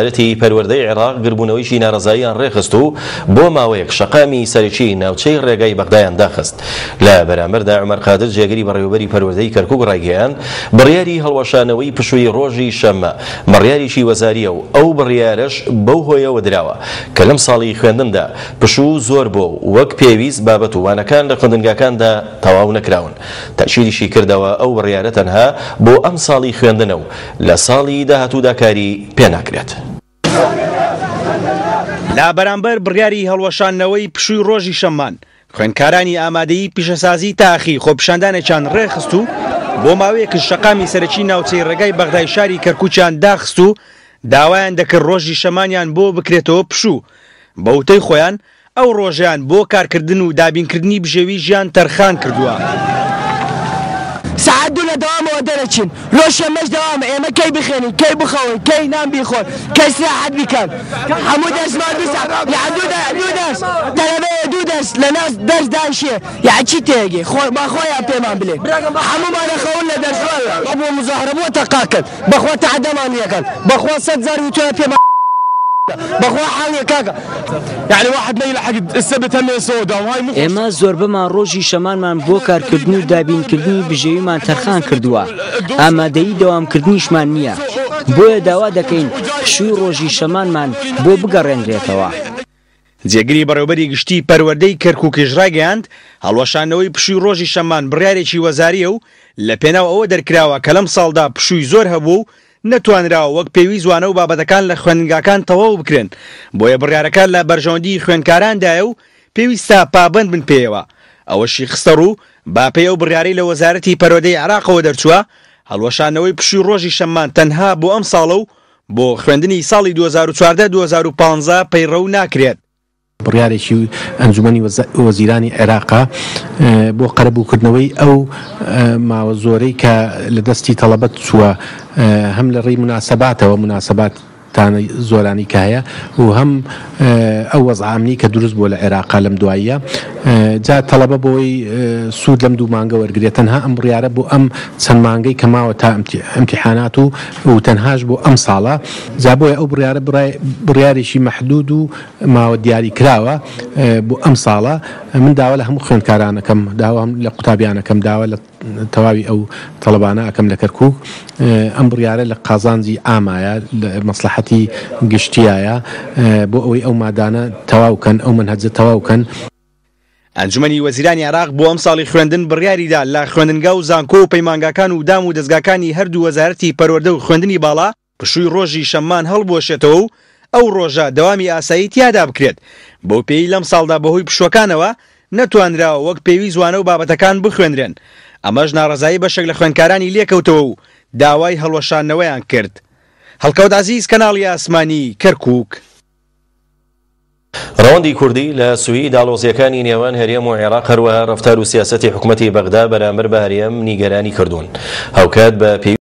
وەزارەتی پەروەردەی عێراق گربوونەوەیکی ناڕەزاییان ڕێکخست و بۆ ماوەیەک شەقامی سەرەکیی ناوچەی ڕێگای بەغدایان داخست. لە بەرامبەردا عومەر قادر جێگری بەڕێوەبەری پەروەردەی کەرکوک ڕایگەیاند، بڕیاری هەڵوەشانەوەی پشووی ڕۆژی شەممە بڕیارێکی وەزارییە و ئەو بڕیارەش بەو هۆیەوە دراوە کە لەم ساڵی خوێندندا پشوو زۆر بووە و وەک پێویست بابەت و وانەکان لە خوێندنگاکاندا تەواو نەکراون. تەئکیدیشی کردەوە ئەو بڕیارە تەنها بۆ ئەمساڵی خوێندنە و لە ساڵی داهاتوودا کاری پێناکرێت. لە بەرامبەر بڕیاری هەڵوەشاندنەوەی پشووی ڕۆژی شەممان، خوێندکارانی ئامادەیی پیشەسازی تاخی خۆپیشاندانێکیان ڕێکخست و بۆ ماوەیەکش شەقامی سەرەکی ناوچەی ڕێگای بەغدای شاری کەرکوکیان داخست و داوایان دەکرد ڕۆژی شەمانیان بۆ بکرێتەوە پشوو، بەوتەی خۆیان ئەو ڕۆژەیان بۆ کارکردن و دابینکردنی بژێوی ژیان تەرخان کردووە. سەعات دوو لە دەوامەوە دەرەچین لۆ شەمەش دەوامە ئێمە کەی بخێنین کەی بخەوین کەی نان بیخۆن کەی سراحەت بیکەن هەموو دەرسمان دوو ساعت یان دوو دەرس دوو دەرس تەلەبەیە دوو دەرس لە ناس دەرس دانشێ یان چی تێگەی خۆ با خۆیان پێمان بلێن هەموومان ئەخەون لە دەرس بۆ مزاهرە بۆ تەقاکەن بەخوا تەعدەمان یەکەن بەخوا سەد جار وتویان پێمان بەخوا حاڵ نیە کاکە یعنی واحد ما يلحق السبت هم سودا وهاي مو ئێمە زۆربەمان ڕۆژی شەمانمان بۆ کارکردن و دابینکردنی بژێویمان تەرخان کردووە، ئامادەیی دەوامکردنیشمان نییە، بۆیە داوا دەکەین پشووی ڕۆژی شەمانمان بۆ بگەڕێنرێتەوە. جێگری بەڕێوەبەری گشتیی پەروەردەی کەرکوکیش ڕایگەیاند، هەڵوەشاندنەوەی پشووی ڕۆژی شەممان بڕیارێکی وەزارییە و لەپێناو ئەوە دەرکراوە کە لەمساڵدا پشووی زۆر هەبووە و نەتوانراوە وەک پێویست وانە و بابەتەکان لە خوێندنگاکان تەواو بکرێن، بۆیە بڕیارەکە لە بەرژەوەندیی خوێندکاراندایە و پێویستە پابەند بن پێیەوە. ئەوەشی خستەڕوو، بەپێی ئەو بڕیارەی لە وەزارەتی پەروەردەی عێراقەوە دەرچووە، هەڵوەشاندنەوەی پشووی ڕۆژی شەممان تەنها بۆ ئەمساڵە و بۆ خوێندنی ساڵی 2014 2015 پەیڕەو ناکرێت. بڕیارێکی ئەنجومەنی وەزیرانی عێراقە بۆ قەرەبووکردنەوەی ئەو ماوە زۆرەی کە لە دەستی تەڵەبە چووە هەم لە ڕێی موناسەباتەوە موناسەبات تانە زۆرانی کە هەیە و هەم ئەو وەزعە ئەمنی کە دروست بووە لە عێراقا لەم دواییە جا تەڵەبە بۆی سوود لەم دوو مانگە وەرگێت تەنها ئەم بڕیارە بۆ ئەم چەند مانگەی کە ماوە تا ئیمتیحانات و و تەنهاش بۆ ئەم ساڵە جا بۆیە ئەو بڕیارە بڕیارێکی مەحدود و ماوە دیاری کراوە بۆ ئەم ساڵە من داوا لە هەموو خوێندکاران ئەکەم داوا لە قوتابیان ئەکەم داوا لە تەواوی ئەو تەڵەبانە ئەکەم لە کەرکوک ئەم بڕیارە لە قازانجی ئامایە لە مەسلحەتی گشتیایە بۆ ئەوەی ئەو مادانە تەواو کەن ئەو مەنهەجە تەواو کەن. ئەنجومەنی وەزیرانی عێراق بۆ ئەمساڵی خوێندن بڕیاریدا لە خوێندنگا و زانکۆ و پەیمانگاکان و دام و دەزگاکانی هەردوو وەزارەتی پەروەردە و خوێندنی باڵا پشووی ڕۆژی شەممان هەڵبوەشێتەوە و ئەو ڕۆژە دەوامی ئاسایی تیادا بکرێت، بەوپێیەی لەمساڵدا بەهۆی پشووەکانەوە نەتوانراوە وەک پێویست وانە و بابەتەکان بخوێنرێن، ئەمەش ناڕەزایی بەشێک لە خوێندکارانی لێکەوتەوە و داوای هەڵوەشاندنەوەیان کرد. هەڵکەوت عەزیز، کەناڵی ئاسمانی، کەرکوک. ڕەوەندی کوردی لە سوید ئاڵۆزییەکانی نێوان هەرێم و عێراق هەروەها ڕەفتار و سیاسەتی حکومەتی بەغدا بەرامبەر بە هەرێم نیگەرانی کردوون. هاوکات بە پێویست.